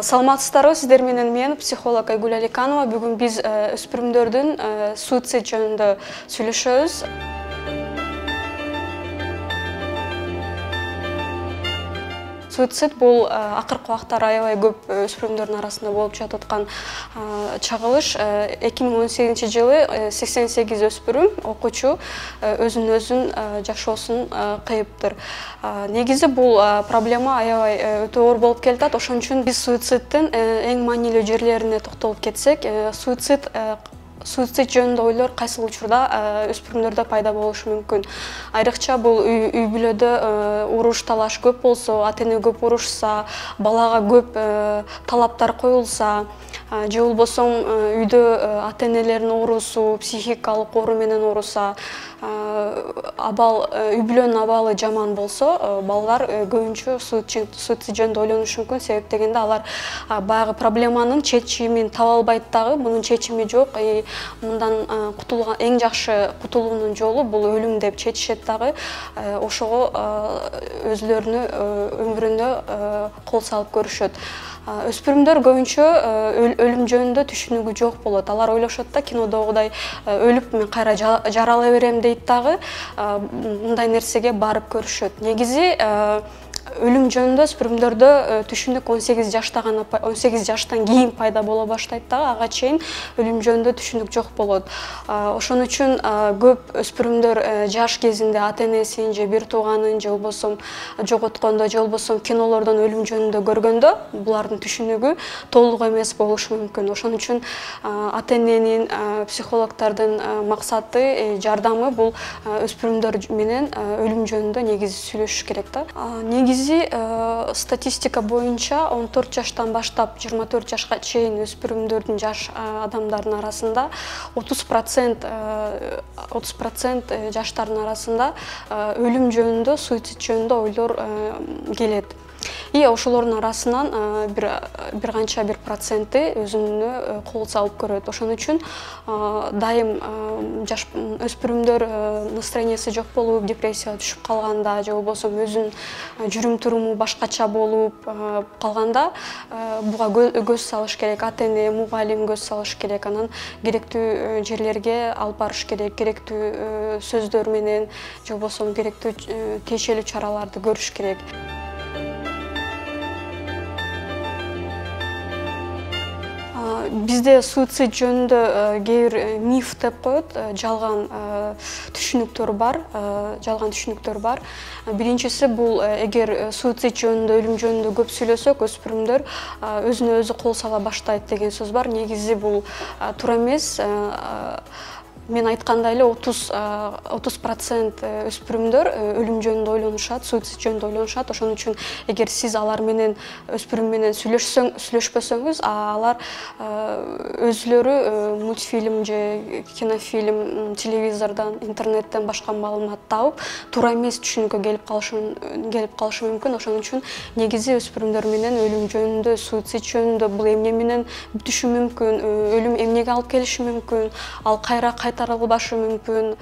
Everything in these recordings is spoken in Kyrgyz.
Саламатсыздарбы, сиздер менен мен психолог Айгүл Аликанова. Бүгүн биз өспүрүмдөрдүн суицид жөнүндө сүйлөшөбүз. Суицид бул акыркы убактар аябай көп өспүрүмдөрдүн арасында болуп жататкан чагылыш. 2018 жылы 88 өспүрүм окуучу өзүн жашоосун кыйыптыр. Негизи бул проблема аябай өтө оор болуп келатат. Ошон үчүн биз суициддин эң маанилүү жерлерине токтолуп кетсек, суицид жөнүндө ойлор кайсыл учурда өспүрүмдөрдө пайда болушу мүмкүн. Айрыкча бул үй бүлөдө уруш талаш көп болсо, ата-эне көп урушса, балага көп талаптар коюлса, же болбосо үйдө ата-энелердин оорусу, психикалык оору менен ооруса, үй бүлөнүн абалы жаман болсо, балдар көбүнчө суицид жөнүндө ойлонушу мүмкүн. Себеп дегенде алар баягы проблеманын чечимин таба албайт дагы, мунун чечими жок. Мындан эң жакшы кутулуунун жолу бул өлүм деп чечишет дагы. Ошого өзлөрүнүн өмүрүнө кол салып көрүшөт. Өспүрүмдөр көбүнчө өлүм жөнүндө түшүнүгү жок болот. Алар ойлошот да, кинодогудай өлүп мен кайра жаралай берем дейт дагы, мындай нерсеге барып көрүшөт. Негизи өлүм жөнүндө өспүрүмдөрдө түшүнүк 18 жаштан кийин пайда боло баштайт дагы, ага чейин өлүм жөнүндө түшүнүк жок болот. Ошон үчүн көп өспүрүмдөр жаш кезинде ата-энесин же бир тууганын же болбосо жоготкондо, же болбосо кинолордон өлүм жөнүндө көргөндө булардын түшүнүгү толук эмес болушу мүмкүн. Ошон үчүн ата-эненин, психологдордун максаты, жардамы бул өспүрүмдөр менен өлүм жөнүндө негизи сүйлөшүш керек да. Негизи статистика боюнча 14 жаштан баштап 24 жашка чейин өспүрүмдөрдүн, жаш адамдардын арасында 30% жаштардын арасында өлүм жөнүндө, суицид жөнүндө ойлор келет. Ошолордун арасынан бир канча бир проценти өзүнө кол салып көрөт. Ошон үчүн дайым жаш өспүрүмдөр настроениясы жок болуп, депрессияга түшүп калганда, же болбосо өзүнүн жүрүм-туруму башкача болуп калганда буга көз салыш керек. Ата-эне, мугалим көз салыш керек. Анан керектүү жерлерге алып барыш керек. Керектүү сөздөр менен, же болбосо керектүү тиешелүү чараларды көрүш керек. Бизде суицид жөнүндө кээ бир миф деп коет, жалган түшүнүктөр бар. Биринчиси бул, эгер суицид жөнүндө, өлүм жөнүндө көп сүйлөсөк, өспүрүмдөр өзүнө өзү кол сала баштайт деген сөз бар. Негизи бул туура эмес. Мен айткандай эле 30% өспүрүмдөр өлүм жөнүндө ойлонушат, суицид жөнүндө ойлонушат. Ошон үчүн эгер сиз алар менен, өспүрүм менен сүйлөшпөсөңүз, алар өзүлөрү мультфильм же кинофильм, телевизордон, интернеттен башка маалымат тауып, туура эмес түшүнүккө келип калышы мүмкүн. Ошон үчүн негизи өспүрүмдөр менен өлүм жөнүндө, суицид жөнүндө бул эмне менен бүтүшү мүмкүн, өлүм эмнеге алып келиши мүмкүн, ал кайра кайтарылбашы мүмкүн,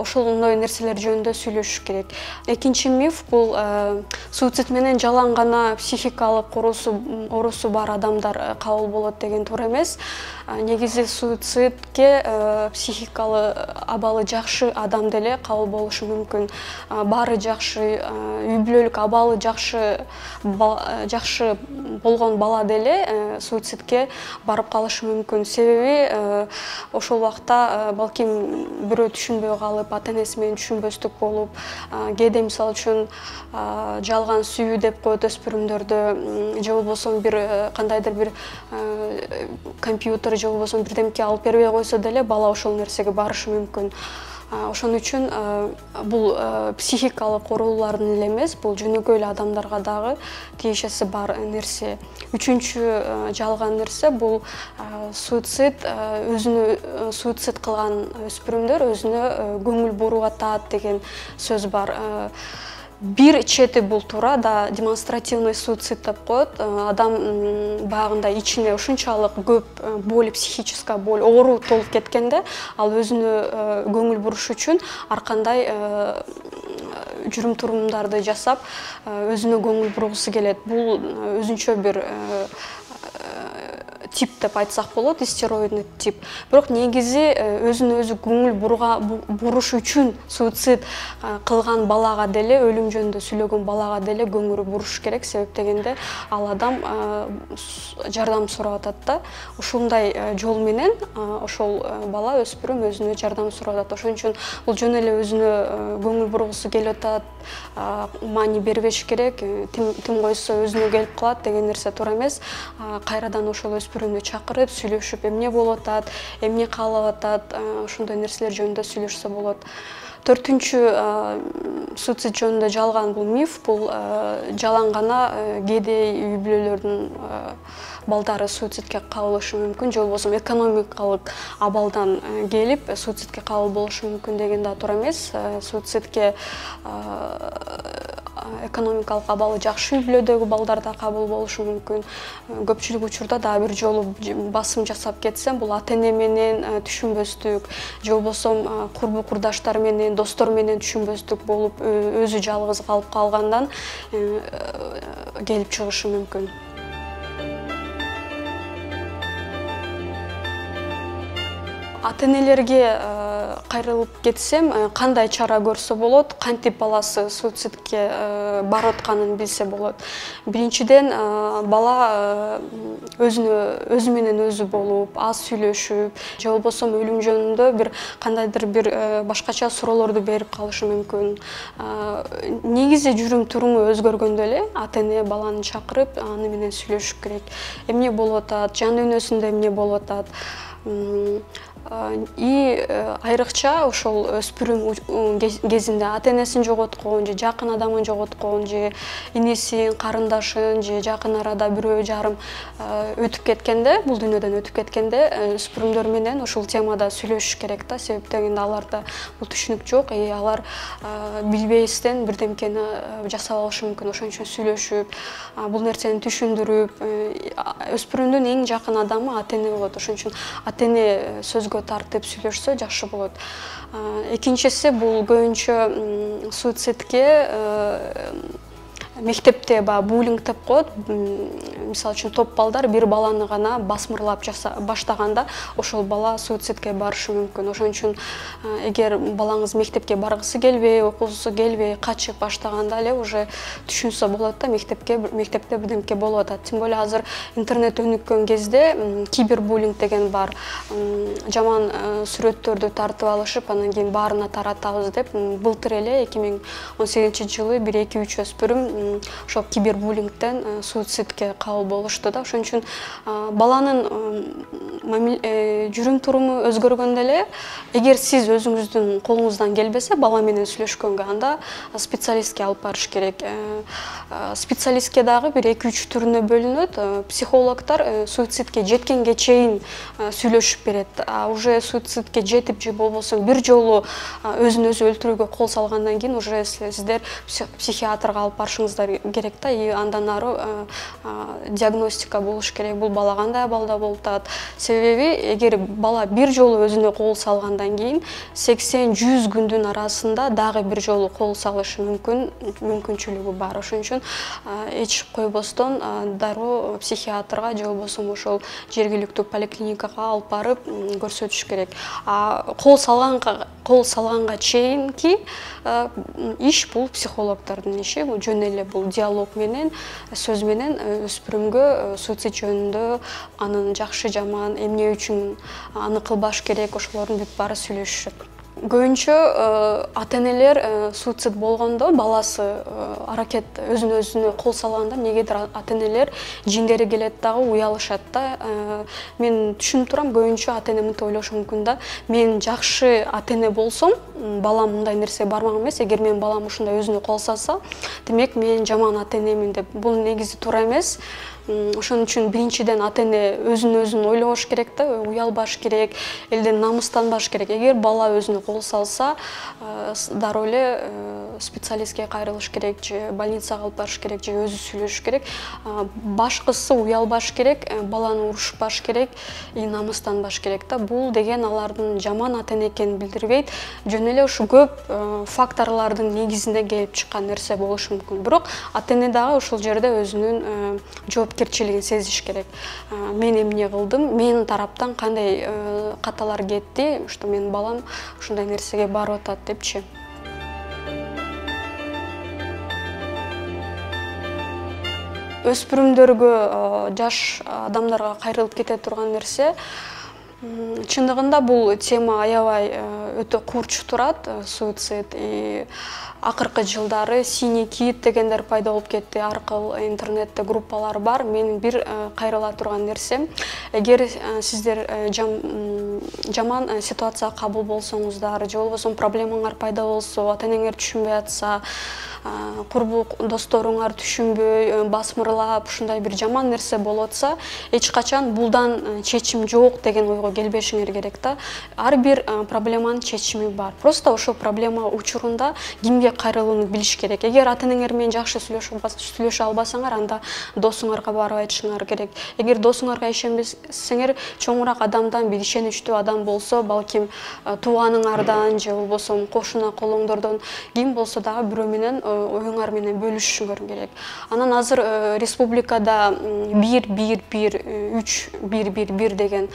ошондой нерселер жөнүндө сүйлөшүш керек. Экинчи миф бул суицид менен жалаң гана психикалык оорусу бар адамдар кабыл болот деген туура эмес. Негизи суицидке психикалык абалы жакшы адам деле кабыл болушу мүмкүн. Баары жакшы, үй бүлөлүк абалы жакшы болгон бала деле суицидке барып калышы мүмкүн. Себеби ошол убакта балким бирөө түшүнбөй калып, ата-энеси менен түшүнбөстүк болуп, кээде мисалы үчүн жалган сүйүү деп коет өспүрүмдөрдө, же болбосо бир кандайдыр бир компьютер же болбосо бирдемке алып бербей койсо деле бала ошол нерсеге барышы мүмкүн. Ошон үчүн бул психикалык оорулардын эле эмес, бул жөнөкөй эле адамдарга дагы тиешеси бар нерсе. Үчүнчү жалган нерсе бул суицид кылган өспүрүмдөр өзүнө көңүл буруп атат деген сөз бар. Бир чети бул туура да, демонстративный суицид деп коет. Адам баягындай ичине ушунчалык көп боль, психическая боль, оору толуп кеткенде, ал өзүнө көңүл буруш үчүн ар кандай жүрүм турумдарды жасап өзүнө көңүл бургусу келет. Бул өзүнчө бир тип деп айтсак болот, истероидный тип. Бирок негизи өзүнө өзү көңүл буруш үчүн суицид кылган балага деле, өлүм жөнүндө сүйлөгөн балага деле көңүл буруш керек. Себеп дегенде ал адам жардам сурап атат да. Ушундай жол менен ошол бала, өспүрүм өзүнө жардам сурап атат. Ошон үчүн бул жөн эле өзүнө көңүл бургусу келип атат, маани бербеш керек, тим койсо өзүнө келип калат деген нерсе туура эмес. Кайрадан ошол өспүрүмдү чакырып, сүйлөшүп, эмне болуп атат, эмне каалап атат, ошондой нерселер жөнүндө сүйлөшсө болот. Төртүнчү суицид жөнүндө жалган бул миф, бул жалаң гана кээде үй бүлөлөрдүн балдары суицидке кабылышы мүмкүн, же болбосо экономикалык абалдан келип суицидке кабыл болушу мүмкүн деген да туура эмес. Суицидке экономикалык абалы жакшы үй бүлөдөгү балдар да кабыл болушу мүмкүн. Көпчүлүк учурда дагы бир жолу басым жасап кетсем, бул ата-эне менен түшүнбөстүк, же болбосо курбу курдаштар менен, достор менен түшүнбөстүк болуп, өзү жалгыз калып калгандан келип чыгышы мүмкүн. Ата-энелерге кайрылып кетсем, кандай чара көрсө болот, кантип баласы суицидке барып атканын билсе болот. Биринчиден, бала өзү менен өзү болуп, аз сүйлөшүп, же болбосо өлүм жөнүндө бир кандайдыр бир башкача суроолорду берип калышы мүмкүн. Негизи жүрүм туруму өзгөргөндө эле ата-эне баланы чакырып, аны менен сүйлөшүш керек. Эмне болуп атат, жан дүйнөсүндө эмне болуп атат. Айрыкча ошол өспүрүм кезинде ата-энесин жоготкон, же жакын адамын жоготкон, же инисин, карындашын, же жакын арада бирөө жарым өтүп кеткенде, бул дүйнөдөн өтүп кеткенде, өспүрүмдөр менен ушул темада сүйлөшүш керек да. Себеп дегенде аларда бул түшүнүк жок, алар билбестен бирдемкени жасап алышы мүмкүн. Ошон үчүн сүйлөшүп, бул нерсени түшүндүрүп, өспүрүмдүн эң жакын адамы ата-эне болот. Ошон үчүн ата-эне сөзгө тартып сүйлөшсө жакшы болот. Экинчиси, бул көбүнчө суицидке мектепте буллинг деп коет. Мисалы үчүн топ балдар бир баланы гана басмырлап баштаганда ошол бала суицидке барышы мүмкүн. Ошон үчүн эгер балаңыз мектепке баргысы келбей, окугусу келбей, качып баштаганда эле уже түшүнсө болот да, мектепте бирдемке болуп атат. Тем более азыр интернет өнүккөн кезде кибербуллинг деген бар. Жаман сүрөттөрдү тартып алышып, анан кийин баарына таратабыз деп, былтыр эле 2018-жылы 1-2-3 өспүрүм ошол кибербуллингден суицидке кабыл болушту да. Ошон үчүн баланын жүрүм туруму өзгөргөндө эле, эгер сиз өзүңүздүн колуңуздан келбесе бала менен сүйлөшкөнгө, анда специалистке алып барыш керек. Специалистке дагы бир 2-3 түрүнө бөлүнөт. Психологдор суицидке жеткенге чейин сүйлөшүп берет. Уже суицидке жетип, же болбосо бир жолу өзүн өзү өлтүрүүгө кол салгандан кийин уже сиздер психиатрга алып барышыңыздар керек да. И андан ары диагностика болуш керек. Бул бала кандай абалда болуп атат. Себеби эгер бала бир жолу өзүнө кол салгандан кийин 80-100 күндүн арасында дагы бир жолу кол салышы мүмкүнчүлүгү бар. Ошон үчүн эч койбостон дароо психиатрга же болбосо ошол жергиликтүү поликлиникага алып барып көрсөтүш керек. Кол салганга чейинки иш бул психологдордун иши. Бул жөн эле бул диалог менен, сөз менен өспүрүмгө суицид жөнүндө, анын жакшы жаман, эмне үчүн аны кылбаш керек, ошолордун бүт баары сүйлөшүшөт. Көбүнчө ата-энелер суицид болгондо, баласы аракет өзүнө кол салганда, негедир ата-энелер жиңдери келет дагы, уялышат да. Мен түшүнүп турам, көбүнчө ата-эне мынтип ойлошу мүмкүн да. Мен жакшы ата-эне болсом, балам мындай нерсе бармак эмес. Эгер менин балам ушундай өзүнө кол салса, демек мен жаман ата-энемин деп. Бул негизи туура эмес. Ошон үчүн биринчиден ата эне өзүн ойлош керек да, уялбаш керек, элден намыстанбаш керек. Эгер бала өзүнө кол салса, дароо эле специалистке кайрылыш керек, же больницага алып барыш керек, же өзү сүйлөшүш керек. Башкысы уялбаш керек, баланы урушпаш керек, намыстанбаш керек да. Бул деген алардын жаман ата эне экенин билдирбейт. Жөн эле ушу көп факторлордун негизинде келип чыккан нерсе болушу мүмкүн. Бирок ата эне дагы ушул жерде өзүнүн жоопкерчилигин сезиш керек. Мен эмне кылдым, менин тараптан кандай каталар кетти, что менин балам ушундай нерсеге барып атат депчи. Өспүрүмдөргө, жаш адамдарга кайрылып кете турган нерсе, чындыгында бул тема аябай өтө курч турат, суицид. Акыркы жылдары синий кит дегендер пайда болуп кетти, ар кыл интернетте группалар бар. Менин бир кайрыла турган нерсем, эгер сиздер жаман ситуацияга кабыл болсоңуздар, же болбосо проблемаңар пайда болсо, ата энеңер түшүнбөй атса, курбу досторуңар түшүнбөй, басмырлап, ушундай бир жаман нерсе болуп атса, эч качан булдан чечим жок деген ойго келбешиңер керек да. Ар бир проблеманын чечими бар. Просто ошол проблема учурунда кимге кайрылууну билиш керек. Эгер ата энеңер менен жакшы сүйлөшө албасаңар, анда досуңарга барып айтышыңар керек. Эгер досуңарга ишенбесеңер, чоңураак адамдан, бир ишеничтүү адам болсо, балким тууганыңардан же болбосо кошуна колуңдордон ким болсо дагы бирөө менен оюңар менен бөлүшүшүңөр керек. Анан азыр республикада 111 деген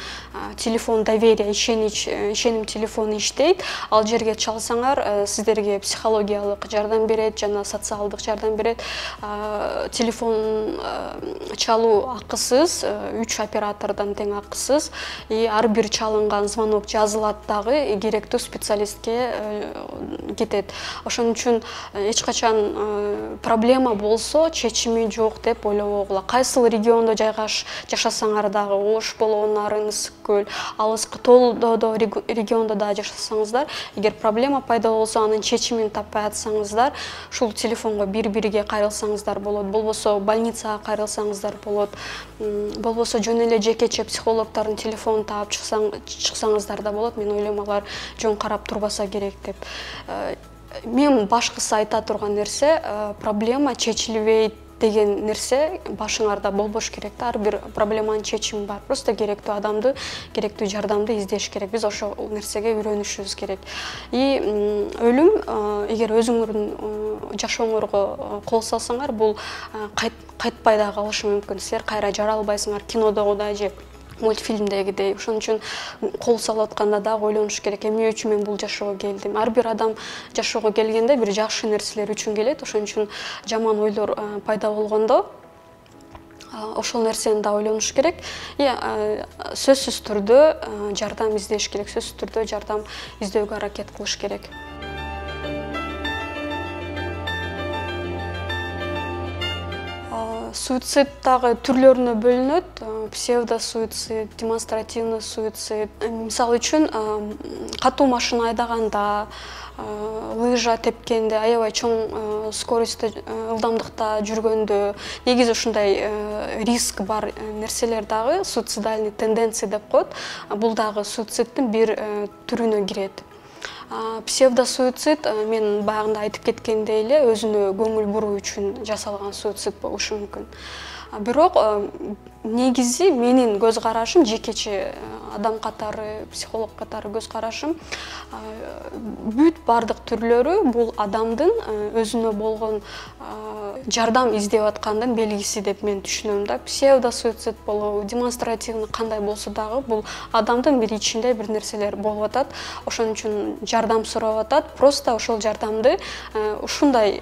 телефон доверия, ишеним телефону иштейт. Ал жерге чалсаңар, сиздерге психологиялык жардам берет, жана социалдык жардам берет. Телефон чалуу акысыз, 3 оператордон тең акысыз. Ар бир чалынган звонок жазылат дагы, керектүү специалистке кетет. Ошон үчүн эч качан проблема болсо, чечими жок деп ойлобогула. Кайсыл региондо жашасаңар дагы, Ош болобу, Нарын, Ысык көл, алыскы Толдодо региондо да жашасаңыздар, эгер проблема пайда болсо, анын чечимин таппай атсаңыздар, ушул телефонго бири-бириге кайрылсаңыздар болот, болбосо больницага кайрылсаңыздар болот, болбосо жөн эле жекече психологдордун телефонун таап чыксаңыздар да болот. Мен ойлойм, алар жөн карап турбаса керек деп. Мен башкысы айта турган нерсе, проблема чечилбейт деген нерсе башыңарда болбош керек да. Ар бир проблеманын чечими бар. Просто керектүү адамды, керектүү жардамды издеш керек. Биз ошол нерсеге үйрөнүшүбүз керек. Өлүм, эгер өзүңөрдүн жашооңорго кол салсаңар, бул кайтпай да калышы мүмкүн. Силер кайра жаралбайсыңар, кинодогудай же мультфильмдегидей. Ошон үчүн кол салып атканда дагы ойлонуш керек, эмне үчүн мен бул жашоого келдим. Ар бир адам жашоого келгенде бир жакшы нерселер үчүн келет. Ошон үчүн жаман ойлор пайда болгондо ошол нерсени да ойлонуш керек. Сөзсүз түрдө жардам издеш керек, сөзсүз түрдө жардам издөөгө аракет кылыш керек. Суицид дагы түрлөрүнө бөлүнөт. Псевдосуицид, демонстративный суицид. Мисалы үчүн, катуу машина айдаганда, лыжа тепкенде, аябай чоң скоростьта, ылдамдыкта жүргөндө, негизи ушундай риск бар нерселер дагы суицидальный тенденция деп коет. Бул дагы суициддин бир түрүнө кирет. Псевдосуицид, мен баягында айтып кеткендей эле, өзүнө көңүл буруу үчүн жасалган суицид болушу мүмкүн. Бирок негизи менин көз карашым, жекече адам катары, психолог катары көз карашым, бүт бардык түрлөрү бул адамдын өзүнө болгон жардам издеп аткандын белгиси деп мен түшүнөм да. Псевдосуицид болобу, демонстративный кандай болсо дагы, бул адамдын бир ичинде бир нерселер болуп атат. Ошон үчүн жардам сурап атат. Просто ошол жардамды ушундай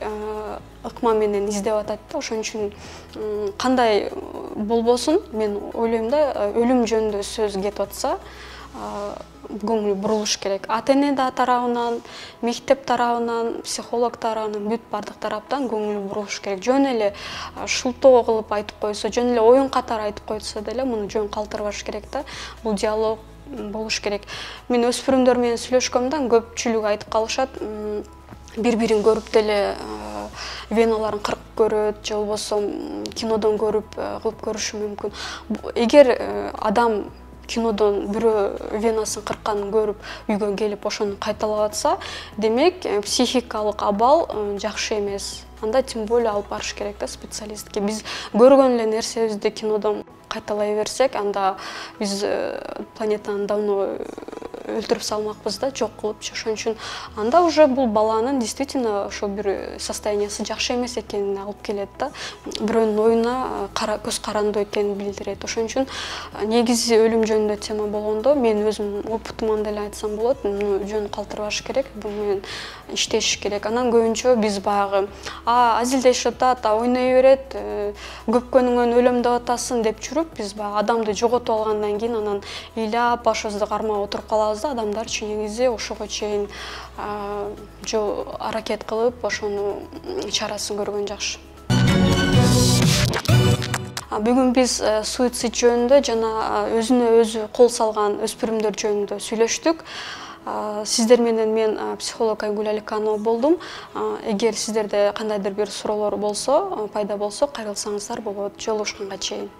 ыкма менен издеп атат да. Ошон үчүн кандай болбосун, мен ойлойм да, өлүм жөнүндө сөз кетип атса, көңүл бурулуш керек. Ата эне тарабынан, мектеп тарабынан, психолог тарабынан, бүт бардык тараптан көңүл бурулуш керек. Жөн эле шултоо кылып айтып койсо, жөн эле оюн катары айтып койсо деле, муну жөн калтырбаш керек да. Бул диалог болуш керек. Мен өспүрүмдөр менен сүйлөшкөмдө көпчүлүгү айтып калышат, бири-бирин көрүп деле веналарын кырып көрөт же болбосо кинодон көрүп кылып көрүшү мүмкүн. Эгер адам кинодон бирөө венасын кырканын көрүп үйгө келип ошону кайталап атса, демек психикалык абал жакшы эмес. Анда тем более алып барыш керек да специалистке. Биз көргөн эле нерсебизди кинодон кайталай берсек, анда биз планетаны давно өлтүрүп салмакпыз да, жок кылыпчы. Ошон үчүн анда уже бул баланын действительно ошо бир состояниясы жакшы эмес экенине алып келет да. Бирөөнүн оюна көз карандуу экенин билдирет. Ошон үчүн негизи өлүм жөнүндө тема болгондо мен өзүмдүн опытыман деле айтсам болот, жөн калтырбаш керек, буну менен иштеш керек. Анан көбүнчө биз баягы азилдешип атат, ойной берет, көпкөнүңөн өлөм деп атасың деп жүрүп, биз баягы адамды жоготуп алгандан кийин анан ыйлап башыбызды кармап отуруп калабыз да. Адамдарчы негизи ошого чейин аракет кылып, ошону чарасын көргөн жакшы. Бүгүн биз суицид жөнүндө жана өзүнө өзү кол салган өспүрүмдөр жөнүндө сүйлөштүк. Сиздер менен мен психолог Айгүл Аликанова болдум. Эгер сиздерде кандайдыр бир суроолор болсо, пайда болсо, кайрылсаңыздар болот. Жолугушканга чейин.